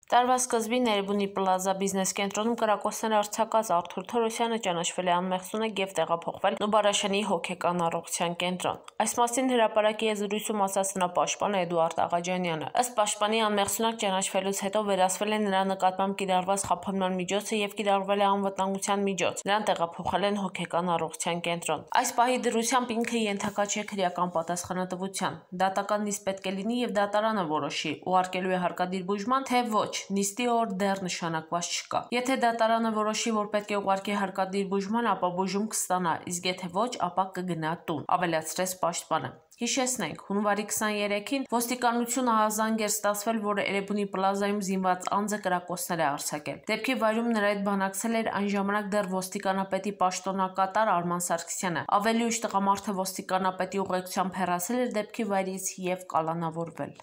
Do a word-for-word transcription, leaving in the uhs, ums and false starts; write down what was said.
Տարվա սկզբին Էրեբունի Պլազա բիզնես կենտրոնում կրակոցներ արձակած Արթուր Թորոսյանը ճանաչվել է անմեղսունակ և տեղափոխվել Նուբարաշենի հոգեկան առողջության կենտրոն։ Այս մասին հրապարակի եզրույցում ասաց նրա պաշտպան Էդուարդ Աղաջանյանը։ Ըստ պաշտպանի, անմեղսունակ ճանաչվելուց հետո վերացվել է նրա նկատմամբ կիրառված խափանման միջոցը և կիրառվել է անվտանգության միջոց։ Նրան տեղափոխել են հոգեկան առողջության կենտրոն։ Այս պահի դրությամբ ինքը ենթակա չէ քրեական պատասխանատվության։ Դատական նիստ պետք է լինի և դատարանը որոշի՝ ուղարկելու է հարկադիր բուժման, թե ոչ։ Նիստի օր դեռ նշանակված չկա։ Եթե դատարանը որոշի, որ պետք է ուղարկի հարկադիր բուժման, ապա բուժում կստանա, իսկ եթե ոչ, ապա կգնա տուն, ավելացրեց պաշտպանը։ Հիշեցնենք, հունվարի քսաներեքին ոստիկանությունը ահազանգ էր ստացվել, որ Էրեբունի Պլազայում զինված անձը կրակոցներ է արձակել։ Դեպքի վայրում նրա հետ բանակցել էր այն ժամանակ դեռ ոստիկանապետի պաշտոնակատար Արման Սարգսյանը։ Ավելի ուշ տղամարդը ոստիկանապետի ուղեկցությամբ հեռացել էր դեպքի վայրից և կալանավորվել։